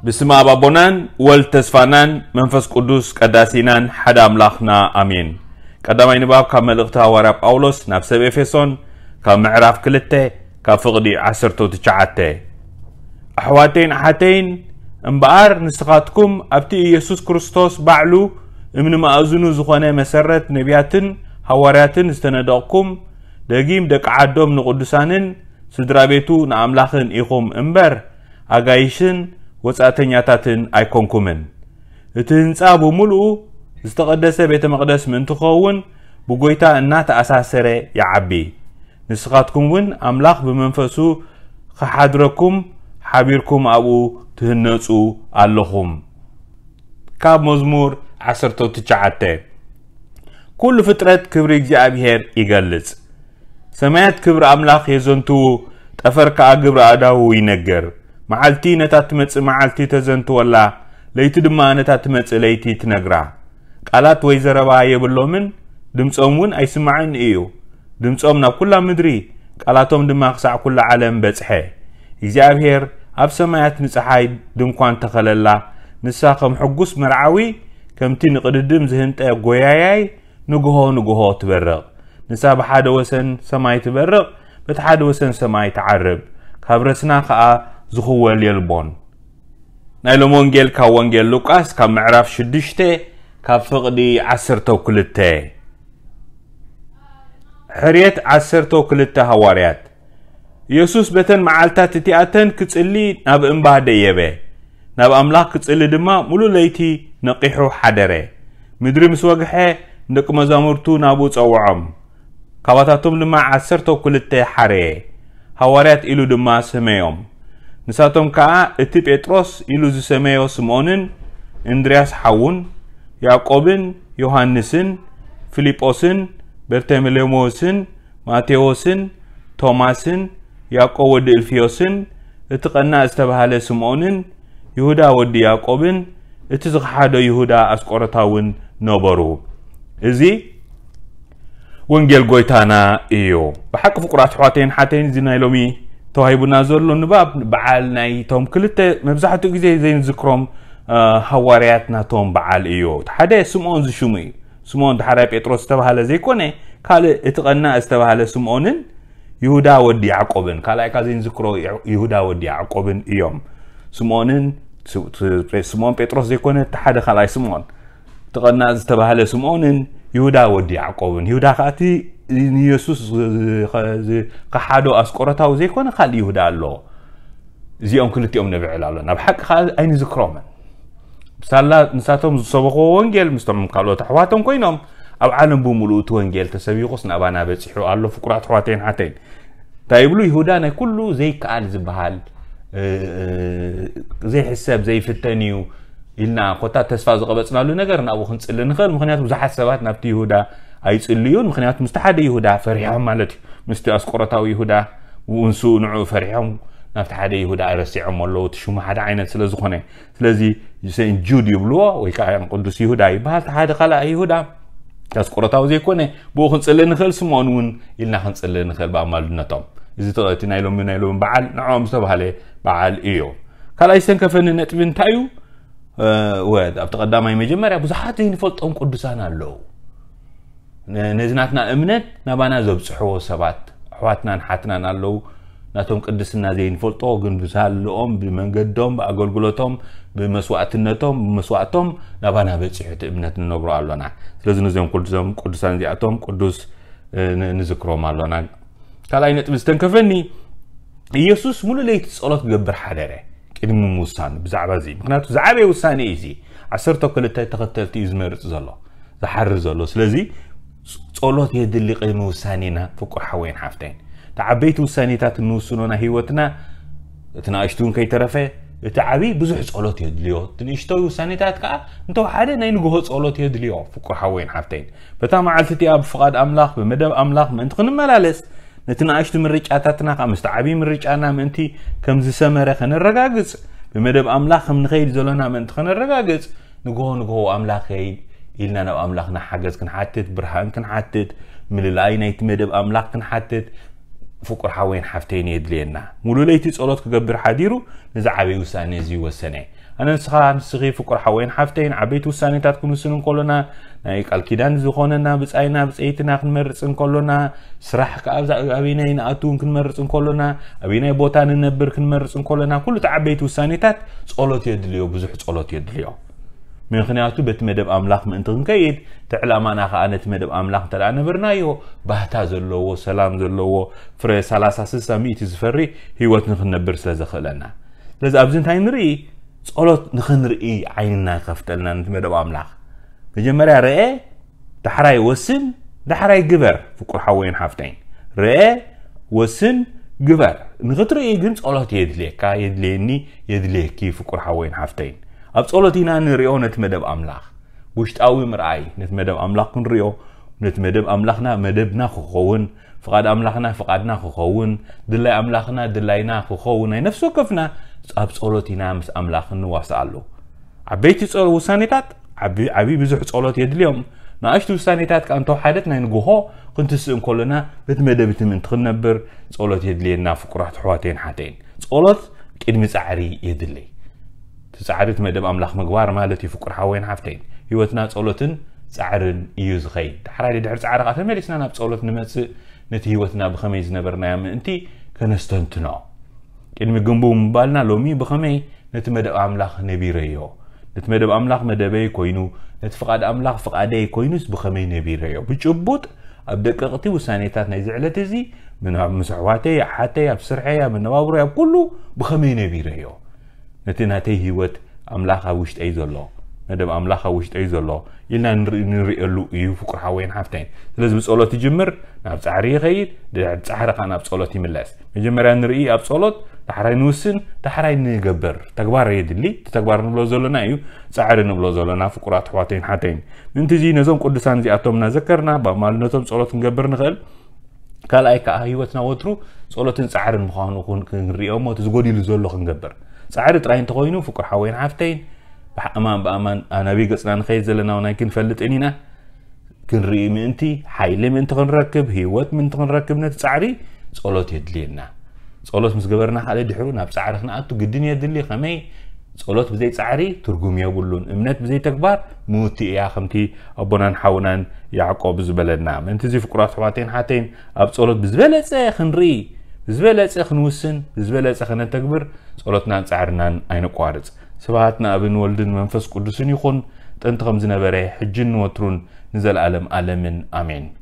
ብስመ ኣብ ኣቦናን ወልድ ተስፋናን መንፈስ ቅዱስ ቀዳሲናን ሓደ ኣምላኽና ኣሜን። ቀዳማይ ንባብ ካብ መልእኽቲ ሃዋርያ ጳውሎስ ናብ ሰብ ኤፌሶን ካብ ምዕራፍ ክልተ ካብ ፍቕዲ ዓሰርተ ትሽዓተ። ኣሕዋተይን ኣሓተይን እምበኣር ንስኻትኩም ኣብቲ ኢየሱስ ክርስቶስ ባዕሉ እምኒ ማእዝኑ ዝኾነ መሰረት ነቢያትን ሃዋርያትን ዝተነደቕኩም ደጊም ደቂ ዓዶም ንቕዱሳንን ስድራ ቤቱ ንኣምላኽን ኢኹም እምበር ኣጋይሽን ወጻእተኛታትን ኣይኮንኩምን። እቲ ህንጻ ብምሉኡ ዝተቐደሰ ቤተ መቕደስ ምእንቲ ክኸውን ብጎይታ እናተኣሳሰረ ይዓቢ። ንስኻትኩም እውን ኣምላኽ ብመንፈሱ ክሓድረኩም ሓቢርኩም ኣብኡ ትህነጹ ኣለኹም። ካብ መዝሙር ዓሰርተ ትሽዓተ። ኩሉ ፍጥረት ክብሪ እግዚኣብሔር ይገልጽ። ሰማያት ክብሪ ኣምላኽ የዘንትዉ፣ ጠፈር ከኣ ግብሪ ኣእዳዉ ይነግር። መዓልቲ ነታ ትመጽእ መዓልቲ ተዘንትወላ፣ ለይቲ ድማ ነታ ትመጽእ ለይቲ ትነግራ። ቃላት ወይ ዘረባ የብሎምን፣ ድምጾም እውን ኣይስማዕን እዩ። ድምጾም ናብ ኩላ ምድሪ፣ ቃላቶም ድማ ክሳዕ ኩላ ዓለም በጽሐ። እግዚኣብሔር ኣብ ሰማያት ንጸሓይ ድንኳን ተኸለላ፣ ንሳ ከም ሕጉስ መርዓዊ፣ ከምቲ ንቕድድም ዝህንጠ ጎያያይ ንግሆ ንግሆ ትበርቕ። ንሳ ብሓደ ወሰን ሰማይ ትበርቕ፣ በቲ ሓደ ወሰን ሰማይ ትዓርብ፣ ካብ ረስና ኸኣ ዝኽወል የልቦን። ናይ ሎም ወንጌል ካብ ወንጌል ሉቃስ ካብ ምዕራፍ ሽዱሽተ ካብ ፍቕዲ ዓሰርተ ክልተ። ሕርየት ዓሰርተ ክልተ ሃዋርያት። ኢየሱስ በተን መዓልታት እቲኣተን ክጽሊ ናብ እምባ ደየበ። ናብ ኣምላኽ ክጽሊ ድማ ሙሉ ለይቲ ነቒሑ ሓደረ። ምድሪ ምስ ወግሐ ንደቂ መዛሙርቱ ናብኡ ጸውዖም። ካባታቶም ድማ ዓሰርተ ክልተ ሓረየ። ሃዋርያት ኢሉ ድማ ሰመዮም። ንሳቶም ከኣ እቲ ጴጥሮስ ኢሉ ዝሰመዮ ስምዖንን እንድርያስ ሓዉን ያዕቆብን ዮሃንስን ፊልጶስን በርተሎሜዎስን ማቴዎስን ቶማስን ያዕቆብ ወዲ እልፍዮስን እቲ ቀናእ ዝተባህለ ስምዖንን ይሁዳ ወዲ ያዕቆብን እቲ ዝኸሓዶ ይሁዳ ኣስቆሮታውን ነበሩ። እዚ ወንጌል ጎይታና እዩ። ብሓቂ ፍቁራት ኣሕዋተይን ሓተይን፣ እዚ ናይ ሎሚ ተዋሂቡና ዘሎ ንባብ በዓል ናይቶም ክልተ መብዛሕትኡ ግዜ ዘይንዝክሮም፣ እ፣ ሃዋርያት ናቶም በዓል እዩ። እቲ ሓደ ስምዖን ዝሽሙ እዩ። ስምዖን ዳሕራይ ጴጥሮስ ዝተባህለ ዘይኮነ፣ ካልእ እቲ ቀናእ ዝተባህለ ስምዖንን ይሁዳ ወዲ ያዕቆብን፣ ካልኣይ ካብ ዘይንዝክሮ ይሁዳ ወዲ ያዕቆብን እዮም። ስምዖንን ስ-፣ ስ-፣ ስምዖን ጴጥሮስ ዘይኮነ፣ እቲ ሓደ ካልኣይ ስምዖን፣ እቲ ቀናእ ዝተባህለ ስምዖንን ይሁዳ ወዲ ያዕቆብን። ይሁዳ ከኣ እቲ ንየሱስ ዝ-፣ ዝ-፣ ዝ-፣ ዝኸሓዶ ኣስቆሮታዊ ዘይኮነ ካልእ ይሁዳ ኣሎ። እዚኦም ክልቲኦም ነብዕል ኣሎ። ናብ ሓቂ ከኣ ኣይንዝክሮምን። ሳላ ንሳቶም ዝሰበኽዎ ወንጌል ምስቶም ካልኦት ኣሕዋቶም ኮይኖም ኣብ ዓለም ብምሉኡ እቲ ወንጌል ተሰቢኹስ ናባና በጺሑ ኣሎ። ፍቁራት ኣሕዋተይን ሓተይን፣ እንታይ ይብሉ? ይሁዳ ናይ ኩሉ ዘይከኣል ዝበሃል፣ እ፣ ዘይሕሰብ ዘይፍተን እዩ ኢልና ኮታ ተስፋ ዝቐበጽናሉ ነገር ናብኡ ክንጽሊ ንኽእል። ምኽንያቱ ብዙሓት ሰባት ናብቲ ይሁዳ ኣይጽልዩን። ምኽንያቱ ምስቲ ሓደ ይሁዳ ፈሪሖም ማለት እዩ። ምስቲ ኣስቆሮታዊ ይሁዳ፣ ንሱ ንዕኡ ፈሪሖም ናብቲ ሓደ ይሁዳ ረሲዖም ኣለዉ። እቲ ሽሙ ሓደ ዓይነት ስለ ዝኾነ። ስለዚ ሴንት ጁድ ይብልዎ፣ ወይ ከዓ ቅዱስ ይሁዳ ይበሃል። እቲ ሓደ ካልኣ ይሁዳ ኣስቆሮታዊ ዘይኮነ፣ ብኡ ክንጽልእ ንኽእል፣ ስምዖን እውን ኢልና ክንጽልእ ንኽእል ብኣማልድነቶም። እዚ ተ-፣ እቲ ናይ ሎሚ፣ ናይ ሎሚ በዓል ንዕኦም ዝተባህለ በዓል እዩ። ካልኣይ ዝተንከፈኒ ነጥቢ እንታይ እዩ? እ፣ ወ-፣ ኣብቲ ቀዳማይ መጀመርያ ብዙሓት ዘይንፈልጦም ቅዱሳን ኣለዉ። ነ-፣ ነዚ ናትና እምነት ናባና ዘብጽሕዎ ሰባት ኣሕዋትናን ሓትናን ኣለዉ። ናቶም ቅድስና ዘይንፈልጦ ግን ብሳልኦም፣ ብመንገዶም፣ ብኣገልግሎቶም፣ ብመስዋእትነቶም፣ ብመስዋእቶም ናባና በጺሑ እቲ እምነት ንነብሮ ኣሎና። ስለዚ ነዚኦም ቅዱሶም ቅዱሳን እዚኣቶም ቅዱስ፣ እ፣ ን-፣ ንዝክሮም ኣሎና። ካልኣይ ነጥቢ ዝተንከፈኒ፣ ኢየሱስ ሙሉ ለይቲ ጸሎት ክገብር ሓደረ ቅድሚ ምውሳኑ ብዛዕባ እዚ። ምኽንያቱ ዝዓበየ ውሳኔ እዩ እዚ። ዓሰርተ ክልተ ተኸተልቲ እዩ ዝመርጽ ዘሎ፣ ዝሓርር ዘሎ። ስለዚ ጸሎት የድሊ ቅድሚ ውሳኔና፣ ፍቁር ሓወይን ሓፍተይን። እቲ ዓበይቲ ውሳኔታት እንውስኖ ናይ ህይወትና፣ እቲ ንኣሽቱ እውን ከይተረፈ፣ እቲ ዓብዪ ብዙሕ ጸሎት የድልዮ። እቲ ንእሽቶይ ውሳኔታት ከኣ እንተወሓደ ናይ ንግሆ ጸሎት የድልዮ፣ ፍቁር ሓወይን ሓፍተይን። በታ መዓልቲ እቲኣ ብፍቓድ ኣምላኽ፣ ብመደብ ኣምላኽ ምእንቲ ክንመላለስ፣ ነቲ ንኣሽቱ ምርጫታትና ከኣ ምስቲ ዓብዪ ምርጫና ምእንቲ ከም ዝሰመረ ከነረጋግጽ፣ ብመደብ ኣምላኽ ከም ንኸይድ ዘሎና ምእንቲ ከነረጋግጽ፣ ንግሆ ንግሆ ኣምላኸይ ኢልና ናብ ኣምላኽና ሓገዝ ክንሓትት፣ ብርሃን ክንሓትት፣ ምልላይ ናይቲ መደብ ኣምላኽ ክንሓትት፣ ፍቁር ሓወይን ሓፍተይን የድልየና። ሙሉ ለይቲ ጸሎት ክገብር ሓዲሩ ነዚ ዓብይ ውሳኔ እዚ ወሰነ። ኣነ ንስኻ ንስኺ ፍቁር ሓወይን ሓፍተይን ዓበይቲ ውሳኔታት ክንውስን እንከሎና፣ ናይ ቃል ኪዳን ዝኾነና ብጻይና ብጸይትና ክንመርጽ እንከሎና፣ ስራሕ ከኣ ኣብዛ ኣበይናይ ንኣትውን ክንመርጽ እንከሎና፣ ኣበይናይ ቦታ ንነብር ክንመርጽ እንከሎና፣ ኩሉ እቲ ዓበይቲ ውሳኔታት ጸሎት የድልዮ፣ ብዙሕ ጸሎት የድልዮ። ምክንያቱ በቲ መደብ ኣምላኽ ምእንቲ ክንከይድ፣ እቲ ዕላማና ከኣ ነቲ መደብ ኣምላኽ እንተ ደኣ ነበርናዮ፣ ባህታ ዘለዎ፣ ሰላም ዘለዎ፣ ፍረ ሰላሳ፣ ስሳ፣ ሚእቲ ዝፈሪ ህይወት ንክንነብር ስለ ዘኽእለና። ስለዚ ኣብዚ እንታይ ንርኢ? ጸሎት ንክንርኢ ዓይንና ይኸፍተልና ነቲ መደብ ኣምላኽ። መጀመርያ ርኤ፣ ዳሕራይ ወስን፣ ዳሕራይ ግበር። ፍቁር ሓወይን ሓፍተይን፣ ርኤ፣ ወስን፣ ግበር። ንክትርኢ ግን ጸሎት የድልየካ፣ የድልየኒ፣ የድልየኪ ፍቁር ሓወይን ሓፍተይን። ኣብ ጸሎት ኢና ንሪኦ ነቲ መደብ ኣምላኽ። ውሽጣዊ ምርኣይ፣ ነቲ መደብ ኣምላኽ ክንሪኦ፣ ነቲ መደብ ኣምላኽና መደብና ክኸውን፣ ፍቓድ ኣምላኽና ፍቓድና ክኸውን፣ ድላይ ኣምላኽና ድላይና ክኸውን፣ ናይ ነፍሲ ወከፍና ኣብ ጸሎት ኢና ምስ ኣምላኽ እንዋስኣሉ። ዓበይቲ ጸሎ-፣ ውሳኔታት ዓቢ፣ ዓቢ ብዙሕ ጸሎት የድልዮም። ንኣሽቱ ውሳኔታት ከኣ እንተወሓደት ናይ ንግሆ ክንትስእ እንከሎና በቲ መደብ እቲ ምእንቲ ክንነብር ጸሎት የድልየና ፍቁራት ኣሕዋተይን ሓተይን። ጸሎት ቅድሚ ጻዕሪ የድልይ። እቲ ጻዕሪ እቲ መደብ ኣምላኽ ምግባር ማለት እዩ። ፍቁር ሓወይን ሓፍተይን፣ ህይወትና ጸሎትን ጻዕርን እዩ ዝኸይድ። ዳሕራይ ድሕሪ ጻዕሪ ከኣ ተመሊስና ናብ ጸሎት ንመጽእ፣ ነቲ ህይወትና ብኸመይ ዝነበርናዮ ምእንቲ ከነስተንትኖ። ቅድሚ ግንቡ ምባልና ሎሚ ብኸመይ ነቲ መደብ ኣምላኽ ነቢረዮ? ነቲ መደብ ኣምላኽ መደበይ ኮይኑ፣ ነቲ ፍቓድ ኣምላኽ ፍቓደይ ኮይኑስ ብኸመይ ነቢረዮ? ብጭቡጥ ኣብ ደቀቕቲ ውሳኔታት ናይዚ ዕለት እዚ፣ ምን-፣ ኣብ ምስ ኣሕዋተይ፣ ኣሓተይ፣ ኣብ ስርሐይ፣ ኣብ መነባብሮይ፣ ኣብ ኩሉ ብኸመይ ነቢረዮ? ነቲ ናተይ ህይወት ኣምላኽ ኣብ ውሽጠይ ዘሎ፣ መደብ ኣምላኽ ኣብ ውሽጠይ ዘሎ ኢልና ንርኢ-፣ ንርእየሉ እዩ ፍቁር ሓወይን ሓፍተይን። ስለዚ ብጸሎት ይጅምር፣ ናብ ጻዕሪ ይኸይድ፣ ድሕሪ ጻዕሪ ከኣ ናብ ጸሎት ይምለስ። መጀመርያ ንርኢ ኣብ ጸሎት፣ ዳሕራይ ንውስን፣ ዳሕራይ ንገብር። ተግባር የድሊ፣ እቲ ተግባር ንብሎ ዘለና እዩ፣ ጻዕሪ ንብሎ ዘለና ፍቁራት ኣሕዋተይን ሓተይን። ምእንቲ እዚ ነዞም ቅዱሳን እዚኣቶም እናዘከርና፣ ብኣማልነቶም ጸሎት ክንገብር ንኽእል። ካልኣይ ከኣ ህይወትና ወትሩ ጸሎትን ጻዕርን ምዃኑ ኩን-፣ ክንሪኦ እሞ እቲ ዝጎዲሉ ዘሎ ክንገብር። ጻዕሪ ጥራይ እንተኾይኑ ፍቁር ሓወይን ሓፍተይን፣ ብሓ-፣ እማን ብኣማን ኣናብይ ገጽና ንኸይድ ዘለና እውን ኣይክንፈልጥን ኢና። ክንርኢ ምእንቲ፣ ሓይሊ ምእንቲ ክንረክብ፣ ህይወት ምእንቲ ክንረክብ ነቲ ጻዕሪ ጸሎት የድልየና። ጸሎት ምስ ገበርና ካልእ ድሕሩ ናብ ጻዕሪ ክንኣቱ ግድን የድሊ። ከመይ? ጸሎት ብዘይ ጻዕሪ ትርጉም የብሉን። እምነት ብዘይ ተግባር ምውቲ እያ፣ ከምቲ ኣቦናን ሓውናን ያዕቆብ ዝበለና። ምእንቲ እዚ ፍቁራት ኣሕዋተይን ሓተይን ኣብ ጸሎት ብዝበለጸ ክንርኢ፣ ብዝበለጸ ክንውስን፣ ብዝበለጸ ከነተግብር ጸሎትናን ጻዕርናን ኣይነቋርጽ። ስብሃት ንኣብን ወልድን መንፈስ ቅዱስን ይኹን፣ ጥንቲ ከም ዝነበረ፣ ሕጅን ንወትሩን ንዘለኣለም ኣለምን። ኣሜን።